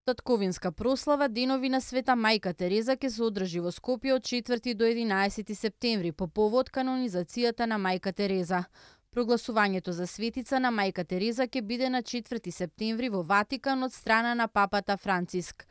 Татковинска прослава денови на Света Мајка Тереза ќе се одржи во Скопје од 4 до 11 септември по повод канонизацијата на Мајка Тереза. Прогласувањето за светица на Мајка Тереза ќе биде на 4 септември во Ватикан од страна на папата Франциск.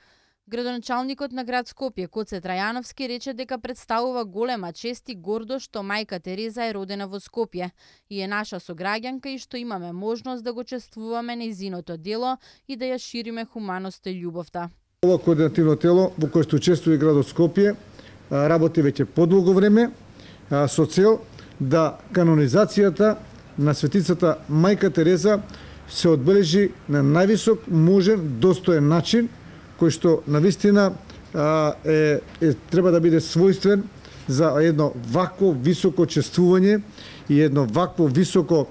Градоначалникот на град Скопје Коце Трајановски рече дека представува голема чест и гордост што Мајка Тереза е родена во Скопје и е наша сограѓанка и што имаме можност да го чествуваме нејзиното дело и да ја шириме хуманоста и љубовта. Ова координативно тело во кое што учествува и градот Скопје работи веќе подолго време со цел да канонизацијата на светицата Мајка Тереза се одбележи на највисок можен достоен начин, кој што навистина треба да биде својствен за едно вакво високо чествување и едно вакво високо,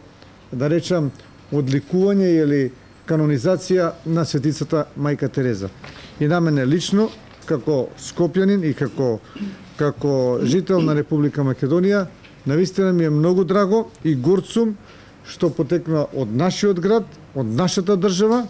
да речам, одликување или канонизација на светицата Мајка Тереза. И на мене лично, како скопјанин и како жител на Република Македонија, навистина ми е многу драго и горд сум што потекна од нашиот град, од нашата држава.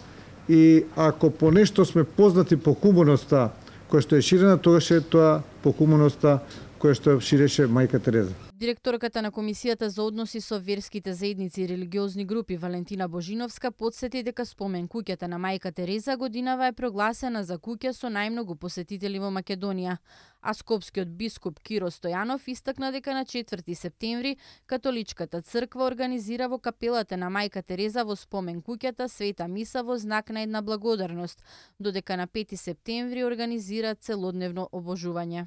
И ако по нешто сме познати по хуманоста која што е ширена, тогаш е тоа по хуманоста која што ширеше Мајка Тереза. Директорката на Комисијата за односи со верските заедници и религиозни групи Валентина Божиновска потсети дека спомен куќата на Мајка Тереза годинава е прогласена за куќа со најмногу посетители во Македонија. А скопскиот бискуп Киро Стојанов истакна дека на 4 септември католичката црква организира во капелата на Мајка Тереза во спомен куќата света миса во знак на една благодарност, додека на 5 септември организира целодневно обожување.